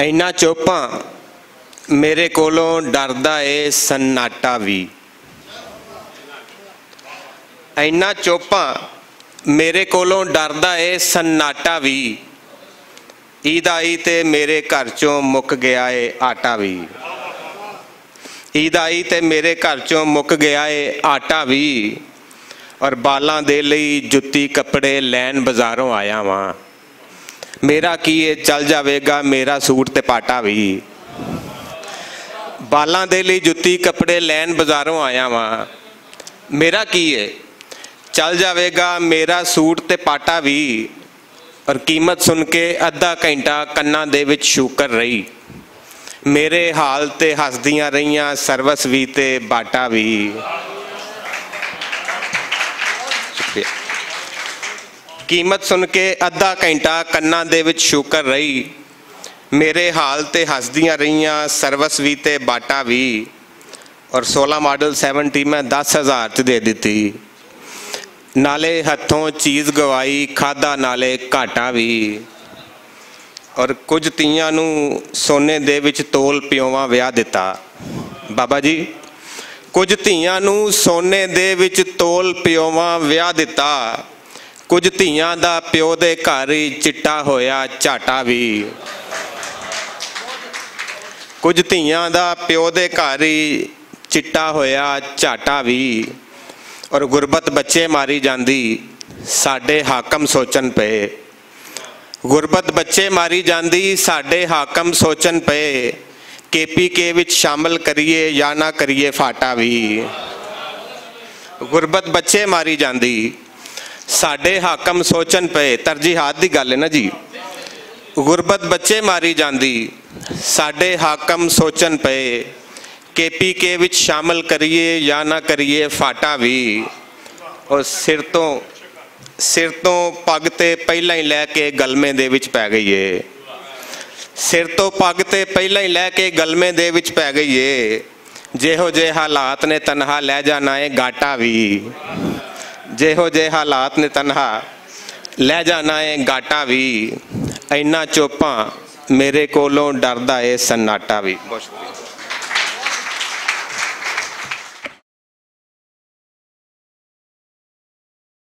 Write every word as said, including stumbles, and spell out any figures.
اینا چوپاں میرے کولوں ڈردا اے سناٹا وی۔ اینا چوپاں میرے کولوں ڈردا اے سناٹا وی۔ عید آئی تے میرے گھر چوں مک گیا اے آٹا وی۔ عید آئی تے میرے گھر چوں مک گیا اے آٹا وی۔ اور بالاں دے لئی جتی کپڑے لین بازاروں آیا واں۔ میرا کی اے چل جاوے گا میرا سوٹ تے پاٹا وی۔ بالاں دے لئی جتی کپڑے لین بازاروں آیا واں۔ میرا کی اے چل جاوے گا میرا سوٹ تے پاٹا وی۔ اور قیمت سن کے ادھا گھنٹہ کناں دے وچ شوکر رہی۔ میرے حال تے ہسدیاں رہیاں سروس وی تے باٹا وی۔ شکریہ۔ قیمت سن کے ادھا گھنٹہ کناں دے وچ شوکر رہی۔ میرے حال تے ہسدیاں رہیاں سروس وی تے باٹا وی۔ اور سولہ ماڈل سیونٹی میں دس ہزار چ دے دتی۔ نالے ہتھوں چیز گوائی کھادا نالے گھاٹا وی۔ اور کچھ تیاں نوں سونے دے وچ تول پیوواں ویاہ دتا۔ بابا جی، کچھ تیاں نوں سونے دے وچ تول پیوواں ویاہ دتا۔ کچھ تیاں دا پیو دے گھر ہی چٹا ہویا جھاٹا وی۔ کچھ تیاں دا پیو دے گھر ہی چٹا ہویا جھاٹا وی۔ اور غربت بچے ماری جاندی ساڈے حاکم سوچن پئے۔ غربت بچے ماری جاندی ساڈے حاکم سوچن پئے۔ کے پی کے وچ شامل کریے یا نہ کریے فاٹا وی۔ غربت بچے ماری جاندی ساڈے حاکم سوچن پئے۔ ترجیحات دی گل ہے نا جی۔ غربت بچے ماری جاندی ساڈے حاکم سوچن پئے۔ کے پی کے وچ شامل کریے یا نہ کریے فاٹا وی۔ اور سر تو سر تو پگ تے پہلا ہی لے کے گلمے دے وچ پے گئی ہے۔ سر تو پگ تے پہلا ہی لے کے گلمے دے وچ پے گئی ہے۔ جیہو جے حالات نے تنہا لے جانا ہے گاٹا وی۔ جیہو جے حالات نے تنہا لے جانا ہے گاٹا وی۔ اینا چوپاں میرے کولوں ڈردا ہے سناٹا وی۔ بہت شکریہ۔